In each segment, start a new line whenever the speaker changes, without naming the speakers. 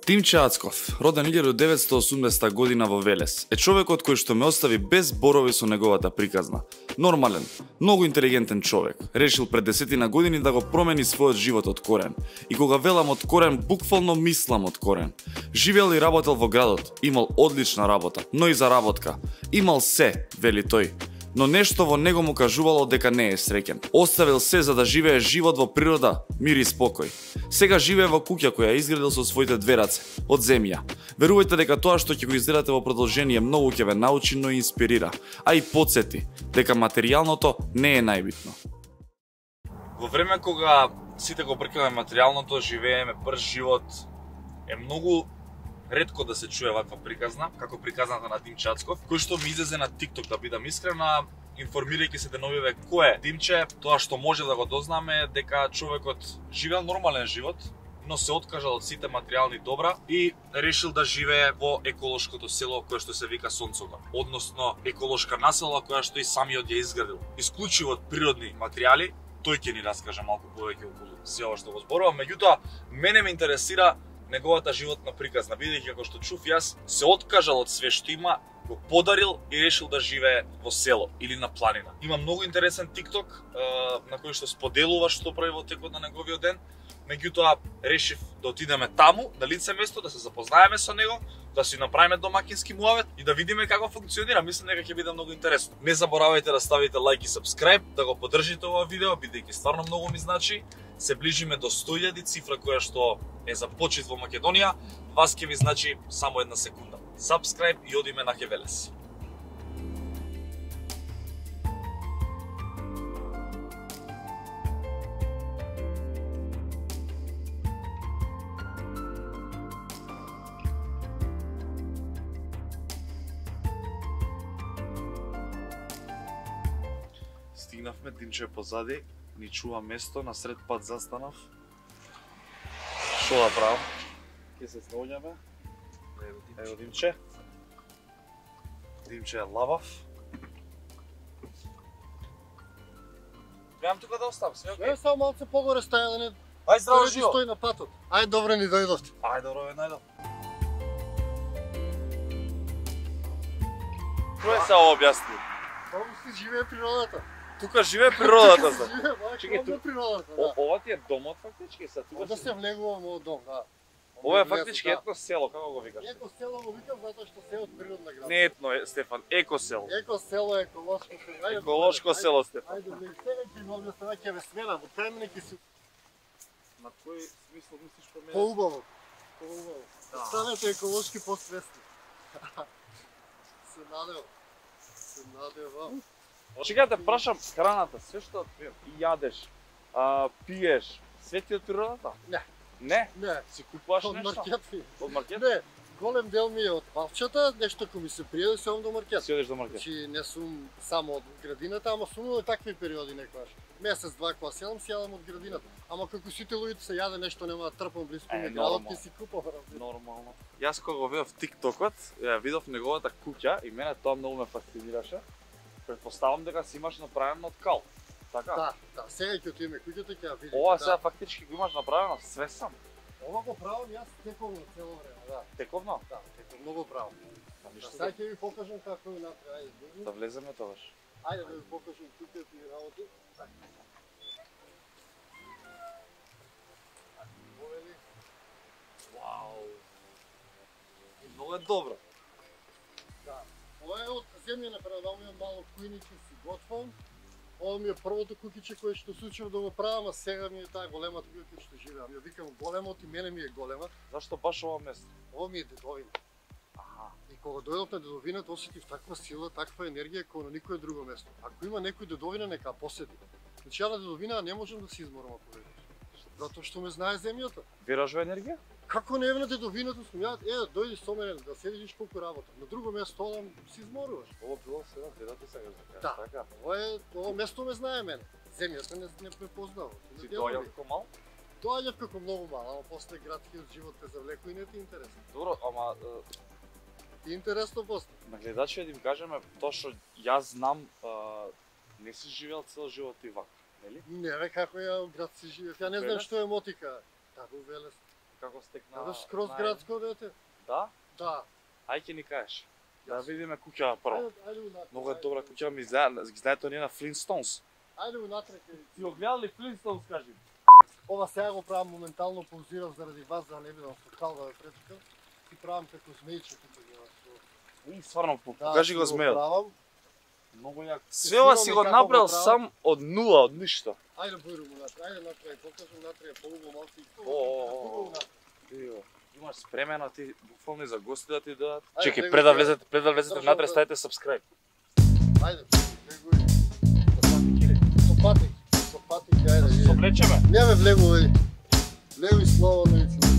Димче Ацков, роден 1980 година во Велес, е човекот кој што ме остави без зборови со неговата приказна. Нормален, многу интелигентен човек, решил пред 10 години да го промени својот живот од корен. И кога велам од корен, буквално мислам од корен. Живеел и работел во градот, имал одлична работа, но и заработка. Имал се, вели тој. Но нешто во него му кажувало дека не е среќен. Оставил се за да живее живот во природа, мир и спокој. Сега живее во куќа која изградил со своите две раце, од земја. Верувајте дека тоа што ќе го изгледате во продолжение многу ќе ве научи, но и инспирира, а и потсети дека материјалното не е најбитно. Во време кога сите го бркаме материјалното, живееме брз живот, е многу ретко да се чуе ваква приказна, како приказната на Димче Ацков, кој што ми излезе на TikTok, да бидам искрен, информирајќи се деновиве кој е Димче. Тоа што може да го дознаме е дека човекот живеел нормален живот, но се откажал од сите материјални добра и решил да живее во еколошкото село кое што се вика Сонцогор, односно еколошка населба која што и самиот ја изградил. Исклучиво од природни материјали, тој ќе ни раскаже малку повеќе околу се ова што го зборувам. Меѓутоа, мене ме интересира неговата животна приказна, бидејќи како што чув јас, се откажал од све што има, го подарил и решил да живее во село или на планина. Има многу интересен TikTok на кој што споделува што прави во текот на неговиот ден. Меѓутоа, решив да отидеме таму, на лице место, да се запознаеме со него, да си направиме домакински муавет и да видиме како функционира. Мислам дека ќе биде многу интересно. Не заборавајте да ставите лайк и сабскрајб, да го поддржите ова видео, бидејќи стварно многу ми значи. Се ближиме до 100.000, цифра која што е за почит во Македонија. Вас ќе ви значи само една секунда. Сабскрајб и одиме на Хевелес. Стигнавме, Димче позади, ни чува место, на сред пат застанав. Шо да правам? Ке се снаоѓаме. Ево Димче. Димче е лавав. Гледам тука да оставам, све окей?
Не, само малце погоре стаја да не...
Ај, здраво
да
живо!
стои на патот. Ај, добро ни дојдовте.
Ај, добро ве најдов. Кој се објасни?
Таму си живее природата.
Тука живее природата,
Тука
за.
си живее,
Чекај,
бакшо, природата, да.
Ова ти е домот фактички, са тука.
Да се влегувам во дом, да.
Ова е фактички етно село, како го викаш?
Еко село го викам затоа што се од природна града.
Не етно, Стефан, еко село.
Еко село, еколошко село. Ајде,
Еколошко село, Стефан.
Ајде, бе, сега ќе го објаснам, ќе ве сменам, од кај мене ќе си
На кој смисол мислиш по мене?
поубаво. Поубаво.
Да.
Станете еколошки посвесни. Се надев. Се надевам.
Чекај да те прашам, храната, све што јадеш, пиеш, све ти од природата?
Не.
Не?
Не,
Си купуваш
од
нешто?
маркет ми.
Од маркет?
Не, голем дел ми е од палчата, нешто кој ми се пријаде, се одам до маркет.
Си одиш до маркет?
Значи не сум само од градината, ама сум имал такви периоди некогаш. Месец, два кога седам, си јадам од градината. Ама како сите луѓето се јаде нешто, нема да трпам близко ми градот, ќе си купам.
Нормално. Јас кога го видов TikTokот, ја видов неговата куќа и мене тоа многу ме фасцинираше. Претпоставам дека си имаш направено од кал. Така?
Да, да, сега ќе отидеме куќата ќе ја видиме.
Ова
да.
сега фактички го имаш направено све сам.
Ова го правам јас тековно цело време, да.
Тековно?
Да, тековно много правам.
Па
Да,
ништо
сега ќе ви покажам како е направи. Ајде,
да влеземе тогаш.
ајде да ви покажам куќата и работи.
Вау. Многу е добро.
Да. Ова е од земја направено, ми е мало кујниче си готвам. Ова ми е првото куќиче кое што случив да го правам, а сега ми е таа големата куќа што живеам. Ја викам големот и мене ми е голема.
Зашто баш ова место?
Ова ми е дедовина.
Аха.
И кога дојдов на дедовината, осетив таква сила, таква енергија како на никое друго место. Ако има некој дедовина, нека посети. Значи ја на дедовина не можам да се изморам ако видиш. Затоа што ме знае земјата.
Вераш во енергија?
Како не е на дедовината сум ја, дојди со мене да се видиш колку работа. На друго место одам, се изморуваш.
Ова било сега дедото сега да
Да.
така.
Ова место ме знае мене. Земјата не ме познава.
Си доаѓал како мал?
Доаѓав како многу мал, ама после градскиот живот те завлекува и не ти е интересно.
Добро, ама
Ти е интересно после.
на гледачите да им кажеме тоа што јас знам, не си живеел цел живот и вака, нели?
Не бе, како ја град си живеев. Ја не знам
Велес?
што е мотика. Да, во Велес.
како стекна.
Каде скроз градско дете?
Да?
Да.
Ај ќе ни кажеш. Да видиме куќава прво.
Ајде унатре.
Многу е добра куќа, ми знаете оние на Flintstones.
Ајде унатре.
Ти го гледал ли Flintstones, кажи?
Ова сега го правам моментално, паузирав заради вас, за да не бидам со кал да ве претекам. Ти правам како змејче тука ја.
И стварно покажи го змејот.
Многу
јак. Све ова си го направил сам од нула, од ништо.
Ајде бојрум унатре, ајде натре, покажам натре, полуго малци.
Имаш спремено ти буквално за гости да ти дадат.
Ајде,
Чекај, пред да влезете внатре, ставите subscribe.
Ајде, бегуј. Со патик, ајде.
Со влечеме.
Не ме влегувај. Влегуј слободно и цели.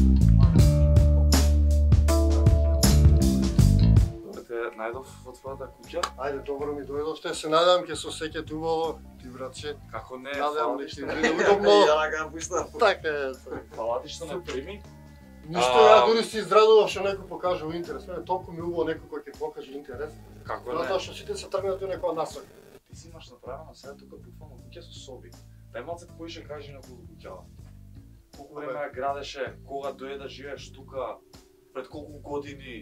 Најдов во твојата куќа.
Ајде, добро ми дојдовте, се надевам ќе се осеќате убаво, ти братче.
Како не,
Надевам
фала
дека
ти
ќе
што
биде удобно.
Ја га пушта.
Така е.
Фала ти што не прими.
Ништо, ја дури си израдував што некој покажал интерес. Мене толку ми убаво некој кој ќе покаже интерес.
Како не?
Затоа што сите се тргнати у некоја насока.
Ти си имаш направено сега тука буквално куќа со соби. Дај малце поише кажи на куќава. Колку време ја градеше, кога дојде да живееш тука, пред колку години?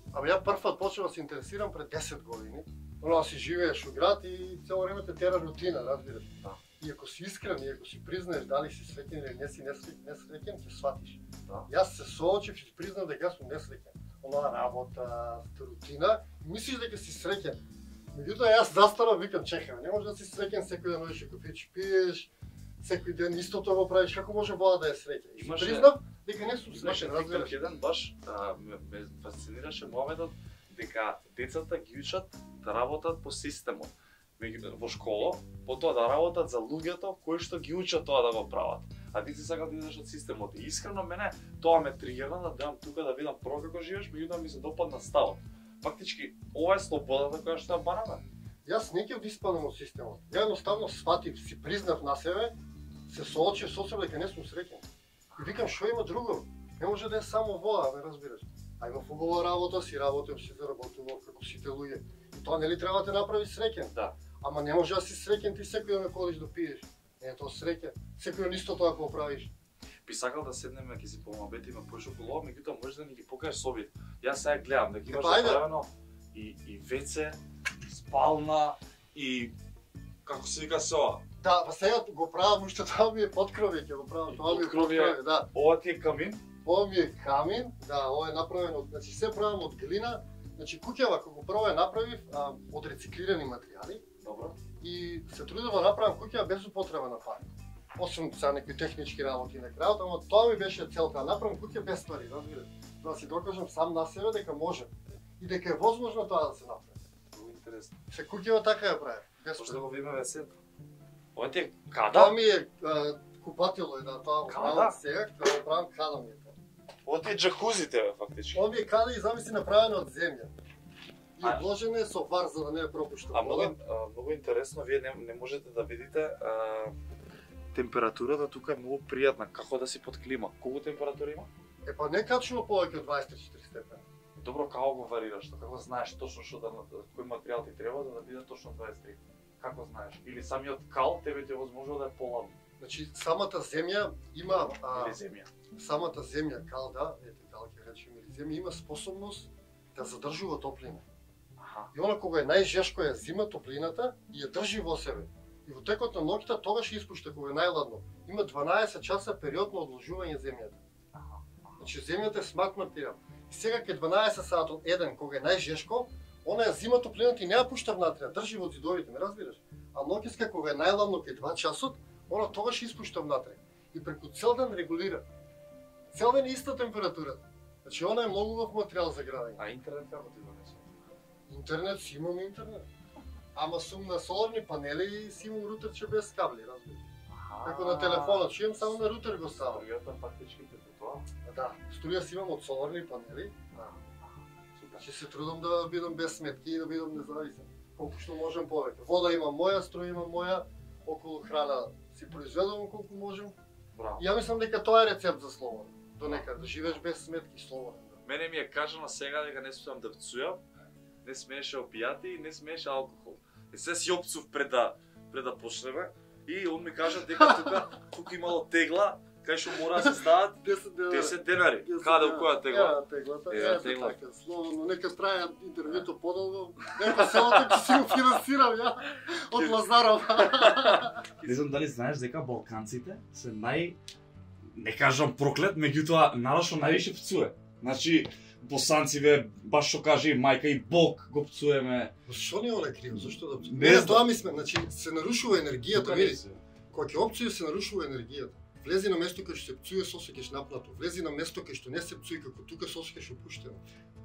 Ја првпат почнав да се интересирам пред 10 години. Оно си живееш у град и цело време те тера рутина, разбираш.
Да.
И ако си искрен, и ако си признаеш дали си среќен или не си несреќен, ќе сватиш.
Да.
Јас се соочив и признав дека сум несреќен. Онаа работа, рутина, мислиш дека си среќен. Меѓутоа јас застарав, викам чекај, не може да си среќен секој ден одиш кофејче пиеш, секој ден истото го правиш, како може вода да е среќен? И
Имаше-
признав дека не сум
Имаше
среќен,
TikTok
разбираш.
еден баш ме фасцинираше моментот дека децата ги учат да работат по системот во школа, потоа да работат за луѓето кои што ги учат тоа да го прават. А ти си сакал да идеш од системот. И искрено мене тоа ме тригерна да дојам тука да видам прво како живееш, меѓутоа ми се допадна ставот. Фактички ова е слободата која што ја бараме.
Јас не ќе диспадам од системот. Ја едноставно сватив, си признав на себе, се соочив со себе дека не сум среќен. И викам што има друго? Не може да е само воа, ме разбираш. А има убава работа, си работам, си заработувам како сите луѓе. И тоа нели треба да те направи среќен?
Да.
Ама не може да си среќен ти секој ден ходиш да пиеш. Не е тоа среќа. Секој ден исто тоа го правиш.
Би сакал да седнеме ќе си помабетиме поише околу ова, меѓутоа може да ни ги покажеш собите. Јас сега гледам дека имаш
Ајде.
направено и WC, и спална, и како се вика се ова?
Да, па сега го правам уште тоа ми е подкровје, ќе го правам, тоа ми е
Подкровје.
подкровје, да.
Ова ти е камин?
Ова ми е камин, да, ова е направено, значи се правам од глина. Значи куќава кога прво ја направив од рециклирани материјали
Добро.
и се трудев да направам куќа без употреба на пари. Освен сега некои технички работи на крајот, ама тоа ми беше целта, да направам куќа без пари, разбираш. Да си докажам сам на себе дека може и дека е возможно тоа да се направи.
Много интересно.
Се куќава така ја правев, без
Може да
пари.
го видиме весето. Ова ти е
Тоа
када?
ми е купатело е да тоа го
Када?
правам сега, кога го правам када ми е тоа.
Ова ти е джакузите, бе, фактички.
Ова ми е када и замисли направено од земја. И
А-
обложено е со вар за да не е пропушта
А
вода.
многу интересно, вие не можете да видите температурата тука е многу пријатна, како да си под клима. Колку температура има?
Е па не качува повеќе од 24 степени.
Добро, како го варираш? Како знаеш точно што кој материјал ти треба за да биде точно 23? Како знаеш? Или самиот кал тебе ти возможува да е поладно?
Значи самата земја има
Или земја?
самата земја кал да, ете кал ќе речеме или земја има способност да задржува топлина.
Аха.
И она кога е најжешко ја зима топлината и ја држи во себе. И во текот на ноќта тогаш ја испушта кога е најладно. Има 12 часа период на одложување земјата.
Аха.
Значи земјата е смарт материјал. И сега ке 12 сатот еден кога е најжешко, она ја зима топлината и не ја пушта внатре, ја држи во зидовите, ме разбираш? А ноќеска кога е најладно ке 2 часот, она тогаш испушта внатре. И преку цел ден регулира. Цел ден е иста температурата. Значи она е многу убав материјал за градење.
А интернет како ти донесува?
Интернет, си имам интернет. Ама сум на соларни панели и си имам рутерче без кабли, разбираш? Како на телефонот, што имам само на рутер го ставам.
Струјата фактички прeko тоа.
Да, струја си имам од соларни панели.
Супер.
Значи се трудам да бидам без сметки и да бидам независен. Колку што можем повеќе. Вода имам моја, струја имам моја, околу храна си произведувам колку можем.
Браво.
Ја мислам дека тоа е рецепт за слободен. До некаде да живееш без сметки слободен.
Мене ми е кажано сега дека не смеам да пцујам, не смееше опијати и не смееше алкохол. И се си опцув пред да почнеме и он ми кажа дека тука имало тегла кај што мора да се стават 10 денари. Каде у која тегла?
Теглата.
Тегла.
Така, словно, нека трае интервјуто подолго. Нека селото ќе си го финансирам ја од Лазаров.
Не знам дали знаеш дека балканците се не кажам проклет, меѓутоа народ што највише пцуе. Значи босанциве, баш што каже и мајка и Бог го пцуеме.
Што не е криво? Зошто да пцуеме?
Не
Не,
знам.
тоа мислам, значи се нарушува енергијата, види. Кога ќе опцуе се нарушува енергијата. Влези на место кај што се пцуе, се осеќаш напнато. Влези на место кај што не се пцуе, како тука се осеќаш опуштено.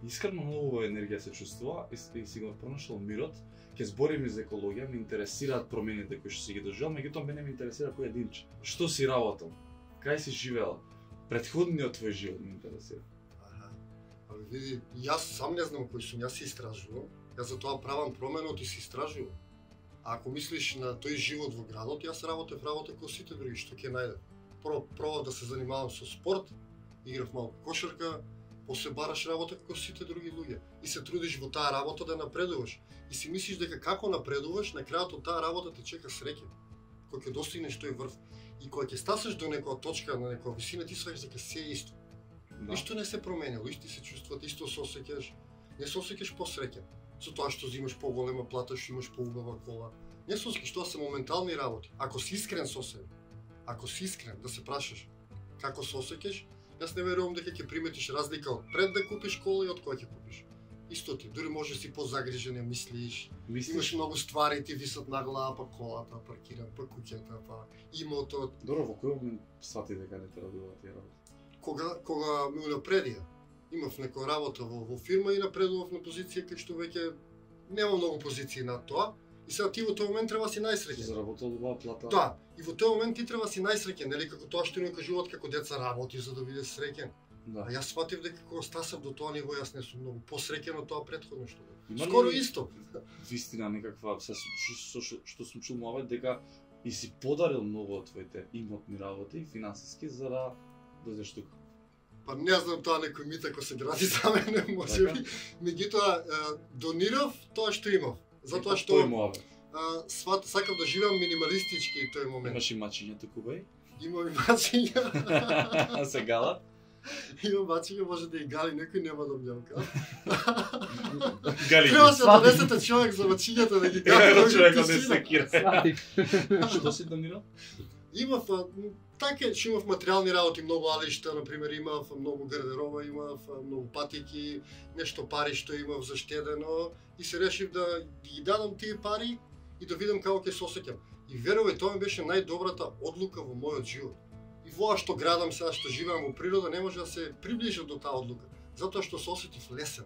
Искрено многу енергија се чувствува и си го пронашол мирот. Ќе збориме за екологија, ме интересираат промените кои што си ги доживел, меѓутоа мене ме интересира кој единче. Што си работел? Кај си живеел? Претходниот твој живот ме интересира.
Али види, јас сам не знам кој сум, јас се истражувам. Јас затоа правам променот и се истражувам. А ако мислиш на тој живот во градот, јас работев како сите други, што ќе најдам. Прво пробав да се занимавам со спорт, играв малку кошарка, после бараш работа како сите други луѓе и се трудиш во таа работа да напредуваш. И си мислиш дека како напредуваш, на крајот од таа работа те чека среќа. Кога ќе достигнеш тој врв и кога ќе стасеш до некоја точка, на некоја висина, ти сваќаш дека се е исто. Ништо не се променило, исти се чувствуват, исто се осеќаш, не се осеќаш посреќен. Со тоа што имаш поголема плата, што имаш поубава кола. Не се осеќаш, тоа се моментални работи. Ако си искрен со себе, ако си искрен да се прашаш како се осеќаш, јас не верувам дека ќе приметиш разлика од пред да купиш кола и од кога ќе купиш. Исто ти, дури може си позагрижен, мислиш, имаш многу ствари, ти висат на глава, па колата, паркиран, па куќата, па имотот.
Добро, во кој момент свати дека не те радува тие работи?
Кога ме унапредија, имав некоја работа во фирма и напредував на позиција кај што веќе нема многу позиции над тоа. И сега ти во тој момент треба си најсреќен.
Заработил добра плата.
Да, и во тој момент ти треба си најсреќен, нели како тоа што ни кажуваат како деца работи за да биде среќен.
Да.
А јас сватив дека кога стасав до тоа ниво, јас не сум многу посреќен од тоа претходно што бев.
Има ли
Скоро исто.
Вистина некаква, што сум чул мовет дека и си подарил многу од твоите имотни работи, финансиски, за да дојдеш тука.
Па не знам тоа некој мит ако се гради за мене, можеби. Меѓутоа донирав тоа што имав. Затоа што
тој мовет.
сакав да живеам минималистички тој момент.
Имаш и мачиња туку беј?
Имам и мачиња.
Се галат?
Имам мачиња, може да и гали некој, нема да мјавка.
Гали.
Треба се донесете човек за мачињата да ги гали.
Ево човекот не се кира. Што си донирал?
Имав така што имав материјални работи, многу алишта, на пример, имав многу гардероба, имав многу патики, нешто пари што имав заштедено и се решив да ги дадам тие пари и да видам како ќе се осеќам. И верувај, тоа ми беше најдобрата одлука во мојот живот. И воа што градам сега, што живеам во природа, не може да се приближам до таа одлука, затоа што се осетив лесен.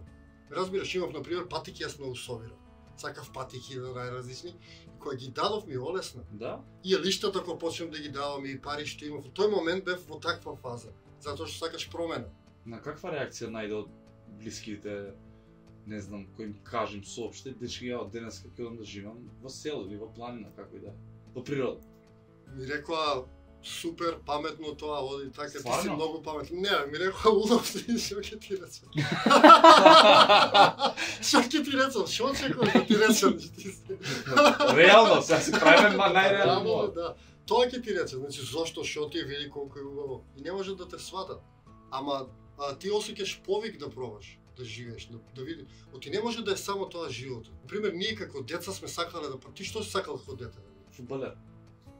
Разбираш, имав на пример патики, јас многу собирам. Сакав патики да најразлични. Кога ги дадов ми олесна.
Да?
И лиштата кога почнав да ги давам и пари што имав, во тој момент бев во таква фаза, затоа што сакаш промена.
На каква реакција најде од блиските, не знам, кој им кажем соопшти, дечки ја од денес како идам да живам во село или во планина, како и да, во природа.
Ми рекоа супер паметно тоа, оди така, ти си
Стварно?
многу паметен. Не, ми рекоа удов си, што ќе ти речам. Што ќе ти речам, што очекуваш да ти речам?
Реално, сега се правиме најреално.
Реално, да. Тоа ќе ти речам, значи зошто, што ти види колку е убаво. И не може да те сватат. Ама ти осеќаш повик да пробаш, да живееш, да видиш. Оти не може да е само тоа животот. Например, ние како деца сме сакале да ти што си сакал како дете?
Фудбалер.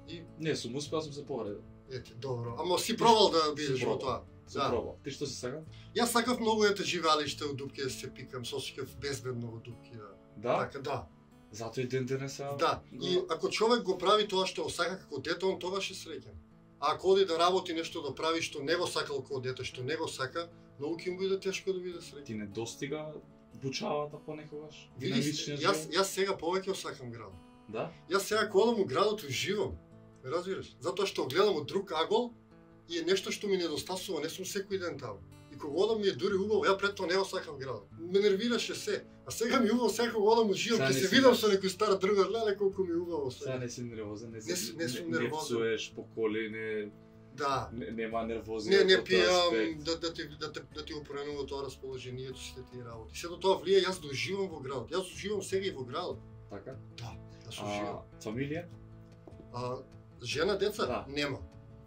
И
Не, сум успеал, сум се повредил.
ете, добро. Ама си пробал да бидеш во тоа.
Сум пробал. Ти што си сакал?
Јас сакав многу живеалиште од дупки да се пикам, се осеќав безбедно во дупки, да.
Да?
Така, да.
Затоа и ден денеса.
Да. И ако човек го прави тоа што го сака како дете, он тогаш е среќен. А ако оди да работи нешто да прави што не го сакал како дете, што не го сака, многу ќе му биде тешко да биде среќен.
Ти не достига бучавата понекогаш?
Види,
Динамичниот живот?
јас сега повеќе осакам градот.
Да?
Јас сега кога одам у градот уживам. Ме разбираш? Затоа што гледам од друг агол и е нешто што ми недостасува, не сум секој ден таму. И кога одам ми е дури убаво, ја пред тоа не го сакам градот. Ме нервираше се. А сега ми е убаво, сега кога одам уживам,
Сега
ќе
не
се
си
видам
да.
со некој стар другар, леле колку ми е убаво
Сега
сега.
не си нервозен, не
сум
не
нервозен.
пцуеш по коли,
Да.
нема нервозија.
Не
во тој
пијам
аспект.
да ти го променува тоа расположението сите тие работи. Сето тоа влие, јас доживам во градот. Јас уживам сега и во градот.
Така?
Да, јас уживам.
Фамилија?
Жена, деца?
Да.
Нема.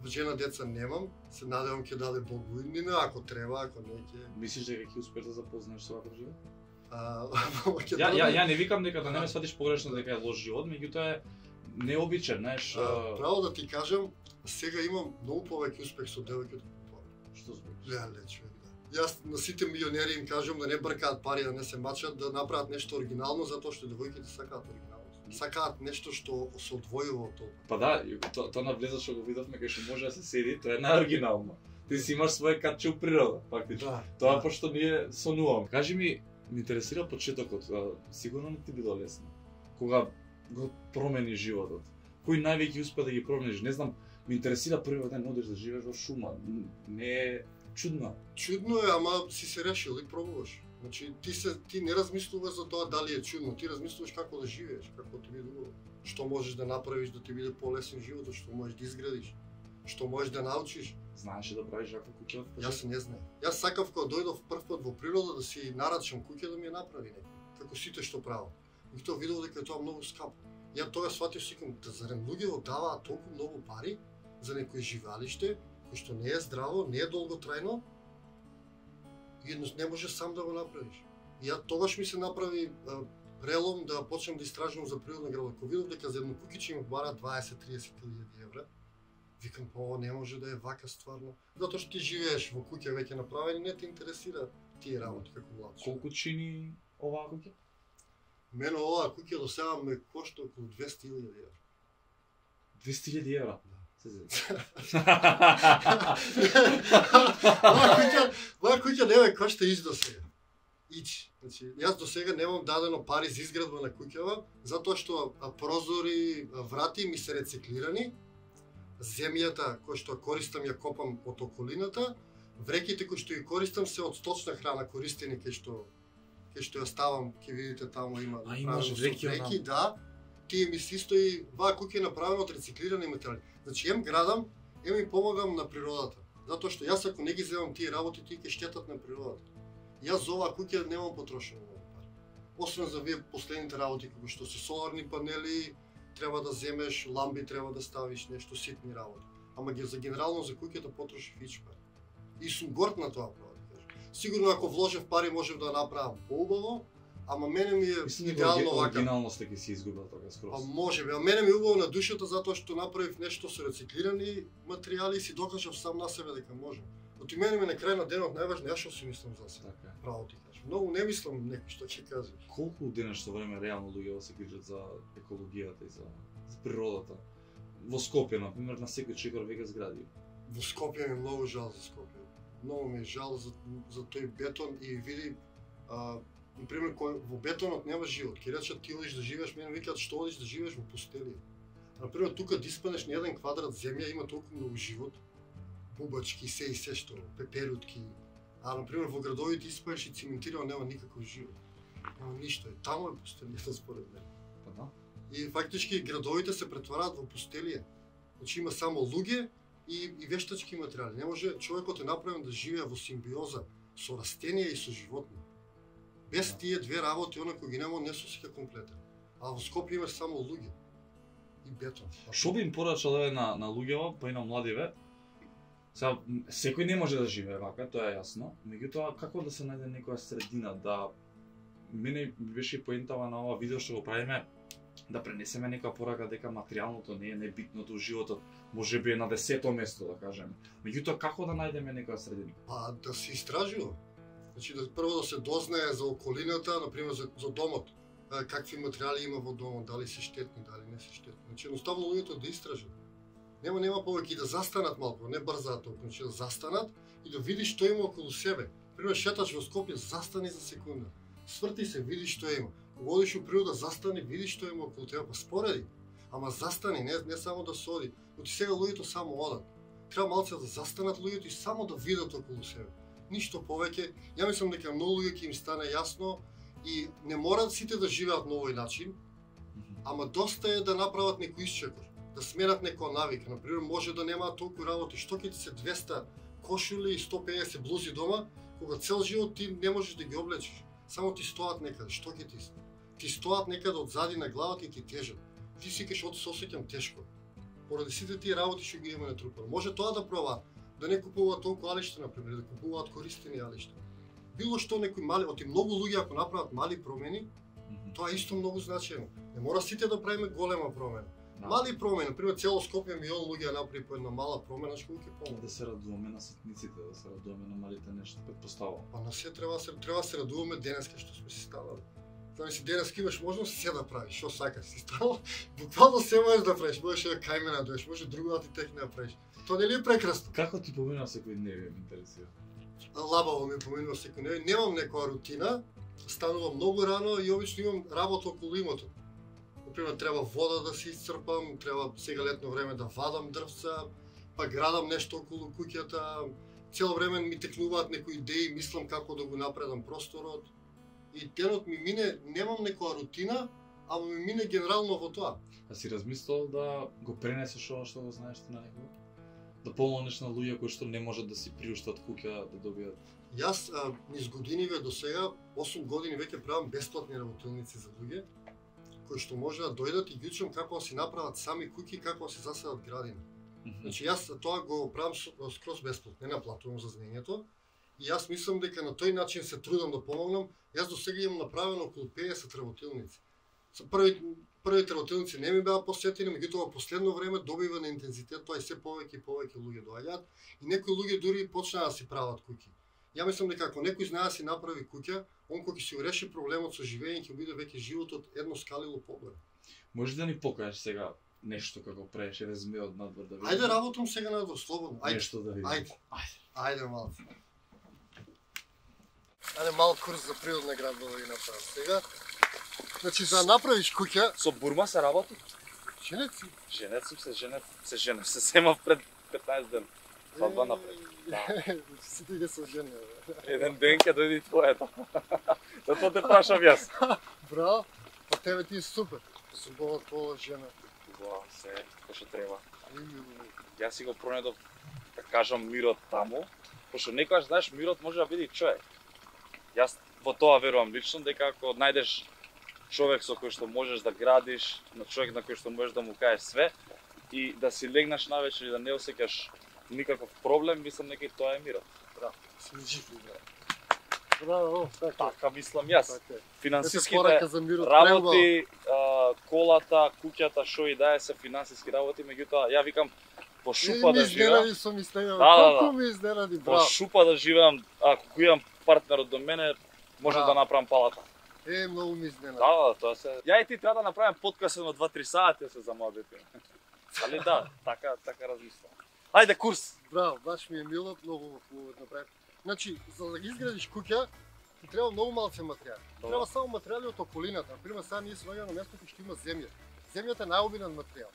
жена деца немам, се надевам ќе даде Бог буднина, ако треба, ако не ќе.
Мислиш дека ќе успееш да запознаеш со ваков живот?
Ја
не викам дека да не ме сватиш погрешно дека е лош живот, меѓутоа е необичен, знаеш.
Право да ти кажам, сега имам многу повеќе успех со девојките.
Што збориш?
Леле, човек, да. Јас на сите милионери им кажам да не бркаат пари, да не се мачат, да направат нешто оригинално, затоа што девојките сакаат оригинално. Сакаат нешто што се одвојува од тоа.
Па да, тоа навлеза што го видовме кај што може да се седи, тоа е најоригинално. Ти си имаш своје катче у природа, фактично.
Да,
Тоа пошто ние сонуваме. Кажи ми интересира почетокот, сигурно не ти било лесно. Кога го промени животот. Кој највеќе успе да ги промениш? Не знам, ме интересира првиот ден одиш да живееш во шума. Не е чудно.
Чудно е, ама си се решил и пробуваш. Значи ти не размислуваш за тоа дали е чудно, ти размислуваш како да живееш, како ти биде убаво. Што можеш да направиш да ти биде полесен животот, што можеш да изградиш, што можеш да научиш.
Знаеш да правиш ваква куќа?
Јас не знаев. Јас сакав кога дојдов прв пат во природа да си нарачам куќа да ми ја направи некој, како сите што прават. И тоа видов дека е тоа многу скапо. Ја тоа сватив сикам да зарем луѓето даваат толку многу пари за некој живеалиште кој што не е здраво, не е долготрајно. И едноставно не може сам да го направиш. И ја тогаш ми се направи прелом да почнам да истражувам за природна градина. Кога видов дека за едно куќиче ми бара 20-30 000 евра, викам, ова не може да е вака стварно. Затоа што ти живееш во куќа веќе направени, не те интересира тие работи како млад човек.
Колку чини оваа куќа?
Мене оваа куќа до сега ме кошта околу 200.000 евра.
200.000 евра?
Моја куќа не ме кошта иш до сега. Ич. Значи, јас до сега немам дадено пари за изградба на куќава, затоа што прозори, врати ми се рециклирани, земјата која што користам ја копам од околината, вреките кои што ги користам се од сточна храна користени кај што ја ставам, ќе видите таму има
имаш
вреки, да. Тие ми се исто и ваа куќа е направена од рециклирани материјали. Значи, ем градам, ем им помагам на природата. Затоа што јас ако не ги земам тие работи, тие ќе штетат на природата. Јас за оваа куќа немам потрошено многу пари. Освен за вие последните работи, како што се соларни панели, треба да земеш, ламби треба да ставиш, нешто ситни работи. Ама за генерално за куќата потрошив ич пари. И сум горд на тоа, право да кажам. Сигурно ако вложев пари можев да направам поубаво, ама мене ми е идеално вака.
Оригиналноста ќе си изгубил тога скроз.
Може би, а мене ми е убаво на душата затоа што направив нешто со рециклирани материјали и си докажав сам на себе дека можам. Оти мене ми на крај на денот најважно ја што си мислам за себе.
Така.
Право ти кажам. Многу не мислам некој што ќе каже.
Колку денешно време реално луѓе се грижат за екологијата и за природата? Во Скопје, например, на секој чекор веќе згради.
Во Скопје ми е многу жал за Скопје. Многу ми е жал за тој бетон и види например, во бетонот нема живот. Ке речат ти одиш да живееш, мене викаат што одиш да живееш во пустелија. Например, тука да испаднеш на 1 квадрат земја има толку многу живот. Бубачки, се и се што, пеперутки. А например во градовите испаднеш и циментирано нема никаков живот. Нема ништо. Таму е пустелијата според мене.
Па да.
И фактички градовите се претвараат во пустелија. Значи има само луѓе и вештачки материјали. Не може човекот е направен да живее во симбиоза со растенија и со животни. Без тие две работи, онако ги нема, не се осеќа комплетен. А во Скопје имаш само луѓе и бетон.
Што би им порачал на луѓето, па и на младиве? Сега, секој не може да живее вака, тоа е јасно. Меѓутоа, како да се најде некоја средина, да... Мене беше поентава на ова видео што го правиме, да пренесеме некоја порака дека материјалното не е небитното у животот, може би е на 10-то место, да кажеме. Меѓутоа, како да најдеме некоја средина?
Па, да се истражува. Значи, прво да се дознае за околината, например за домот. Какви материјали има во домот, дали се штетни, дали не се штетни. Значи, едноставно луѓето да истражат. Нема повеќе и да застанат малку, не брзаат толку, значи да застанат и да видиш што има околу себе. Пример, шеташ во Скопје, застани за секунда. Сврти се, види што има. Кога одиш у природа, застани, види што има околу тебе, па спореди. Ама застани, не само да соди. Но ти сега луѓето само одат. Треба малце да застанат луѓето и само да видат околу себе. Ништо повеќе. Ја мислам дека многу луѓе ќе им стане јасно и не мораат сите да живеат на овој начин, ама доста е да направат некој исчекор, да сменат некоја навика. Например, може да немаат толку работи, што ќе ти се 200 кошули и 150 блузи дома, кога цел живот ти не можеш да ги облечеш. Само ти стоат некаде, што ќе ти се? Ти стоат некаде одзади на главата и ти тежат. Ти си кеш од се осеќам тешко. поради сите тие работи што ги имаме натрупано. Може тоа да пробаат, да не купуваат толку алишта на пример, да купуваат користени алишта. Било што некои мали, оти многу луѓе ако направат мали промени, тоа е исто многу значајно. Не мора сите да правиме голема промена. Мали промени, например, цело Скопје милион луѓе направи по една мала промена, што ќе помогне.
Да се радуваме на ситниците, да се радуваме на малите нешта, претпоставувам.
Па на се треба да се радуваме денеска што сме си станали. Знаеш, денеска имаш можност се да правиш, што сакаш си станал. Буквално се можеш да правиш, можеш да кајмена доеш, може друго да ти текне да правиш. Тоа нели е прекрасно?
Како ти поминува секој дневен, ме интересира?
Лабаво ми поминува секој дневен, немам некоја рутина, станувам многу рано и обично имам работа околу имото. Например, треба вода да се исцрпам, треба сега летно време да вадам дрвца, па градам нешто околу куќата. Цело време ми текнуваат некои идеи, мислам како да го напредам просторот. И денот ми мине, немам некоја рутина, ама ми мине генерално во тоа.
А си размислувал да го пренесеш ова што го знаеш ти на некој? Да помогнеш на луѓе кои што не можат да си приуштат куќа, да добијат?
Јас низ годиниве до сега, 8 години веќе правам бесплатни работилници за луѓе, кои што може да дојдат и ги учам како да си направат сами куќи, како да си засадат градина. Значи јас тоа го правам скроз бесплатно, не наплатувам за знаењето. И јас мислам дека на тој начин се трудам да помогнам. Јас до сега имам направено околу 50 работилници. Со првите работилници не ми беа посетени, меѓутоа во последно време добива на интензитет, тоа и се повеќе и повеќе луѓе доаѓаат и некои луѓе дури почнаа да си прават куќи. Ја мислам дека ако некој знае да си направи куќа, он кога ќе си го реши проблемот со живење, ќе биде веќе животот едно скалило поголем.
Можеш да ни покажеш сега нешто како правиш резме од надвор да видиме?
Ајде работам сега надвор, слободно. Ајде.
Нешто да видиме.
Ајде малку. Ајде мал курс за природна градба да ги направам сега. Значи за да направиш куќа,
Со бурма се работи?
женет си.
Женет сум се женев, се семав пред 15 ден. Свадба напред.
Сите ги се жени.
Еден ден ќе дојде и твоето. Затоа те прашам јас.
Браво, па тебе ти е супер. Сум твоја жена.
Убаво, се, кој што треба. Јас си го пронедов, да кажам, мирот таму, пошто некогаш, знаеш, мирот може да биде и човек. Јас во тоа верувам лично, дека ако најдеш човек со кој што можеш да градиш, на човек на кој што можеш да му кажеш све и да си легнаш навечер и да не осеќаш никаков проблем, мислам дека и тоа е мирот.
Браво, си жив. Браво,
Така мислам јас. Финансиските
работи,
работи, колата, куќата, шо и да е се финансиски работи, меѓутоа ја викам по шупа да живеам.
Ми сум изненади,
колку
ми изненади,
По
браво.
шупа да живеам, ако го имам партнерот до мене, може да направам палата.
Многу ми изненади.
Да, тоа се. Ја и ти треба да направим подкаст на 2-3 сати се замавите. Али да, така размислам. Ајде курс.
Браво, баш ми е мило, многу хубаво направи. Значи, за да ги изградиш куќа, ти треба многу малце материјали. Треба само материјали од околината. Например, сега ние се наоѓаме на место кај што има земја. Земјата е најобилен материјал.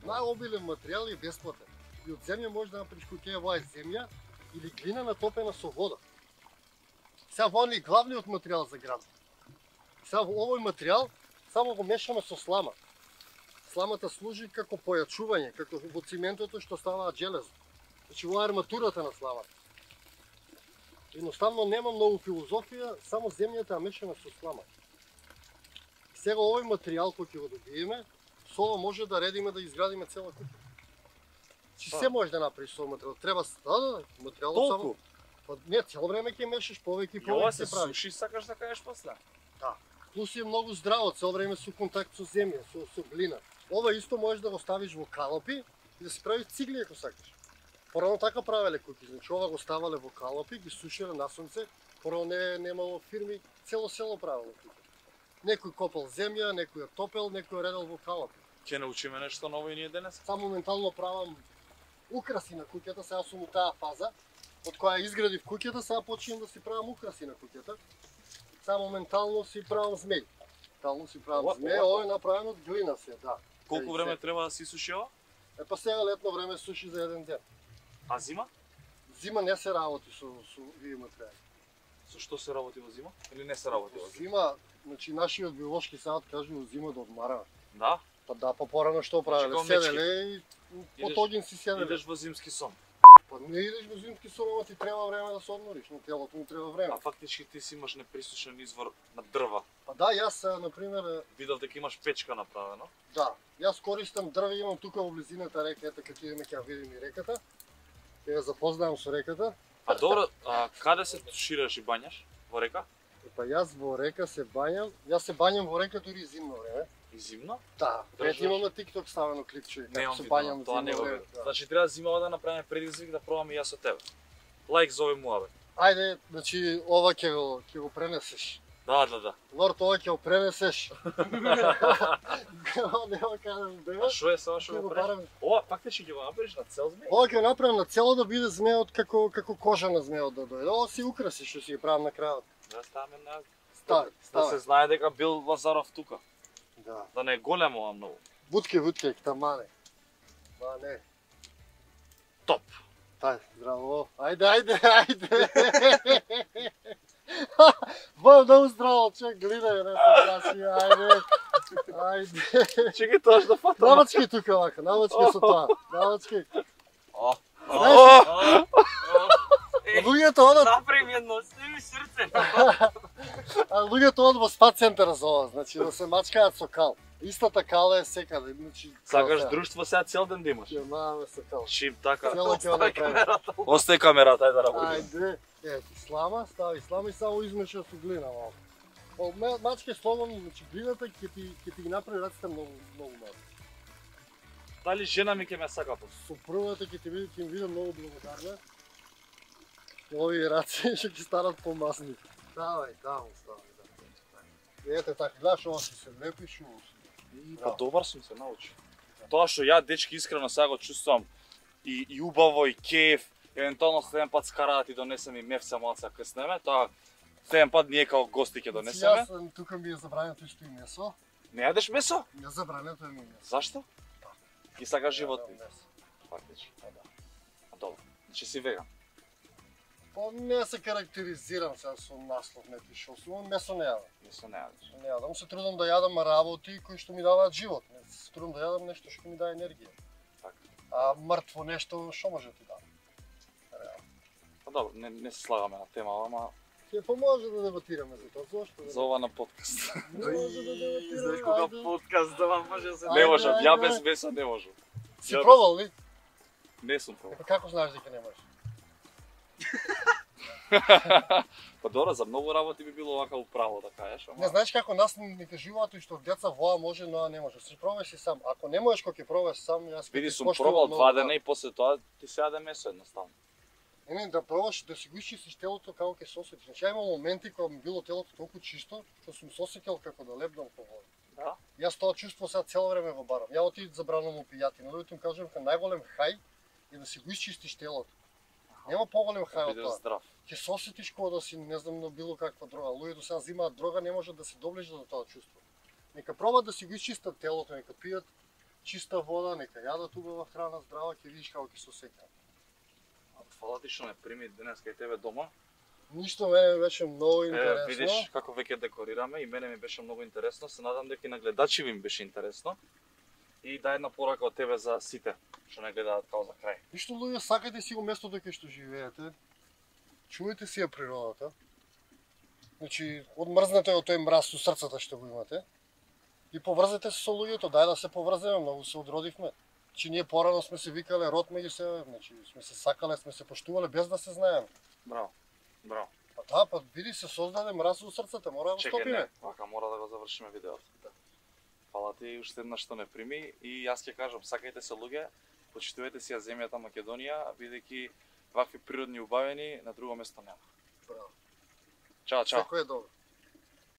Најобилен материјал е бесплатен. И од земја можеш да направиш куќа, ова е земја или глина натопена со вода. Сега во е главниот материјал за град. Сега во овој материјал само го мешаме со слама. Сламата служи како појачување, како во циментото што ставаат железо. Значи во арматурата на сламата. Едноставно нема многу филозофија, само земјата е мешана со слама. Сега овој материјал кој ќе го добиеме, со ова може да редиме да изградиме цела куќа. Чи се може да направиш со материјал. Треба материјалот само. Па не, цело време ќе мешаш повеќе и
Ова
повеќе
се
се прави.
суши, сакаш да кажеш после.
Да. Плюс е многу здраво, цело време со контакт со земја, со глина. Ова исто можеш да го ставиш во калопи и да си правиш цигли ако сакаш. Порано така правеле куќи, значи ова го ставале во калопи, ги сушеле на сонце, порано немало фирми, цело село правело куќи. Некој копал земја, некој ја топел, некој ја редел во калопи.
Ќе научиме нешто ново и ние денес?
Само моментално правам украси на куќата, сега сум у таа фаза, од која изградив куќата, сега почнувам да си правам украси на куќата. Сега моментално си правам змеј. Моментално си правам змеј, ова е направено од глина се, да.
Колку време треба да си суши ова?
Па сега летно време суши за еден ден.
А зима?
Зима не се работи со овие материјали.
Со што се работи во зима? Или не се работи во зима?
Зима, значи нашиот биолошки сад кажува во зима да одмараме.
Да?
Па да, па порано што правеле?
како
Седеле и под огин си седеле.
Идеш во зимски сон.
Па не идеш во зимски сон, ама ти треба време да се одмориш, но телото му треба време.
А фактички ти си имаш неприсушен извор на дрва.
Па да, јас, например,
Видов дека имаш печка направено.
да, јас користам дрве, имам тука во близината река, ете кога идеме ќе ја видим и реката. Ќе ја запознавам со реката.
А добро, каде се тушираш и бањаш? Во река?
Па јас во река се бањам, јас се бањам во река дури и зимно време.
И зимно?
Да,
Држаш?
ето имам на TikTok ставено клипче како се бањам
тоа не
зимно
го
време.
видов.
Да.
Значи треба зимава да направиме предизвик да пробам и јас со тебе. Лайк за овој муабет.
Ајде, значи ова ќе го пренесеш.
Да.
Лорд, ова ќе го пренесеш. Нема кажам
А
дева.
што е сега што
Ќе
го
го
правиш?
барам.
Ова фактички ќе го направиш на цел змеј?
Ова ќе го направам на цело да биде змеот како кожа на змеот да дојде. Ова си украси што си ги правам на крајот.
Да ставаме на
Стави,
да се
стави.
знае дека бил Лазаров тука.
Да.
Да не е големо ова многу.
Вутке, тамане. Ма не.
Топ.
Тај, здраво. Ајде. Ба, многу здраво, човек, гледај, не се краси, ајде.
Чекај тоа што фатам.
Намачки тука вака, намачки со тоа. Намачки.
О.
Знаеш, луѓето одат,
Направи едно, сними срце.
а луѓето одат во спа центар за ова, значи да се мачкаат со кал. Истата кала е секаде, значи.
Сакаш
друг?
друштво сега цел ден да имаш.
Ќе маваме со кал.
Чим така.
Цело ќе го направиме.
Остај камерата, ајде да работиме.
Ајде, ети слама, стави слама и само измеша со глина малку. Мачка е слободно, значи глината ќе ти ги направи раците многу малку.
Дали жена ми ќе ме сака по?
Супругата ќе им биде многу благодарна. Овие раци ќе ги станат помасни. Давај, стави. Ете така, гледаш ова што се лепиш,
Па добар сум се научи. Тоа што ја дечки искрено сега го чувствувам и убаво и кеф, евентуално следен пат скара да ти донесем и мефца малца крснеме, тоа следен пат ние као гости ќе донесеме.
Јас тука ми е забрането исто и месо.
Не јадеш месо?
Не забрането е ми месо.
Зашто? Ги сакаш животни.
Не јадам месо.
Фактички. А добро. Значи си веган.
Па не се карактеризирам сега со наслов неки шо сум, месо не јадам.
Месо не јадеш.
Не јадам, се трудам да јадам работи кои што ми даваат живот. Не се трудам да јадам нешто што ми дава енергија.
Така.
А мртво нешто што може да ти даде?
Па добро, не се слагаме на тема, ама
Ќе поможе да дебатираме за тоа, зошто?
за ова на подкаст.
Не може да дебатираме.
Знаеш кога
ајде.
подкаст да вам може да се...
Не можам, ја
ајде.
без месо не можам.
Си
Ја без-
пробал ли?
Не сум пробал.
Па како знаеш дека не можеш?
Па добро, за многу работи би било вака управо да кажеш, ама
Не знаеш како нас ни кажуваат и што деца воа може, но не може. Си пробаш и сам. Ако не можеш кога ќе пробаш сам, јас
види
ќе
сум
коштувам
пробал
многу,
2
да.
дена и после тоа ти се јаде месо едноставно.
Не, да пробаш да си го изчистиш телото како ќе се осетиш. Значи, ја имам моменти кога ми било телото толку чисто, што сум се осетил како да лебдам по вода.
Да?
Јас тоа чувство сега цело време го барам. Ја отидов забранувам опијати, но да им кажам дека најголем хај е да си го изчистиш телото. Нема поголем хај од
Бидеш
тоа.
здрав.
Ќе се осетиш кога да си не знам на било каква дрога. Луѓето сега взимаат дрога, не можат да се доближат до тоа чувство. Нека пробат да си го изчистат телото, нека пијат чиста вода, нека јадат убава храна, здрава, ќе видиш како ќе се осеќаат.
Фала ти што ме прими денес кај тебе дома.
Ништо мене ми беше многу интересно.
Видиш како веќе декорираме и мене ми беше многу интересно. Се надам дека и на гледачи ви им беше интересно. И да една порака од тебе за сите што не гледаат као за крај.
Ништо луѓе, сакајте си го местото кај што живеете. Чувајте си ја природата. Значи, одмрзнете од тој мраз со срцата што го имате. И поврзете се со луѓето, дај да се поврземе, многу се одродивме. Значи, ние порано сме се викале род меѓу себе, значи сме се сакале, сме се поштувале без да се знаеме.
Браво. Браво.
Па да, па види се создаде мраз со срцата, мора да го
Чекај,
стопиме.
не, вака мора да го завршиме видеото. Фала ти уште еднаш што ме прими и јас ќе кажам, сакајте се луѓе, почитувате си ја земјата Македонија, бидејќи вакви природни убавени на друго место нема.
Браво.
Чао, чао.
Секој е добро.